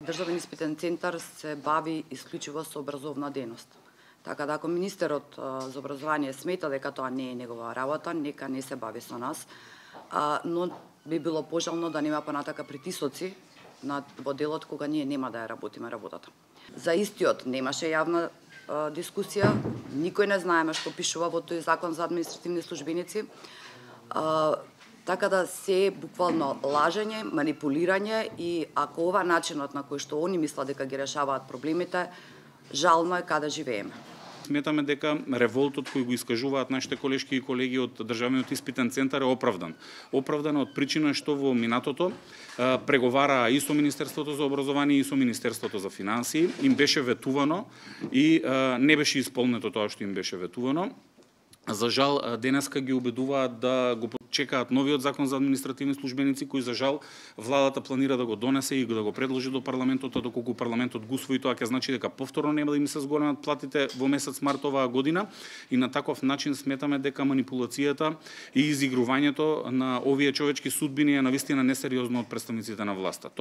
Државен испитен центар се бави исклучиво со образовна дејност. Така да ако министерот за образование смета дека тоа не е негова работа, нека не се бави со нас, но би било пожелно да нема понатака притисоци во делот кога ние нема да ја работиме работата. За истиот немаше јавна дискусија, никој не знаеме што пишува во тој закон за административни службеници. Така да се буквално лажење, манипулирање и ако ова начинот на кој што они мислат дека ги решаваат проблемите, жално е каде живееме. Сметаме дека револтот кој го искажуваат нашите колешки и колеги од Државниот испитен центар е оправдан. Оправдан од причина што во минатото преговараа и со Министерството за образование и со Министерството за финансии, им беше ветувано и не беше исполнето тоа што им беше ветувано. За жал, денеска ги убедуваат да го чекаат новиот закон за административни службеници, кој за жал владата планира да го донесе и да го предложи до парламентот, а доколку парламентот го усвои, тоа ќе значи дека повторно нема да им се зголемат платите во месец март оваа година и на таков начин сметаме дека манипулацијата и изигрувањето на овие човечки судбини е навистина несериозно од представниците на власта.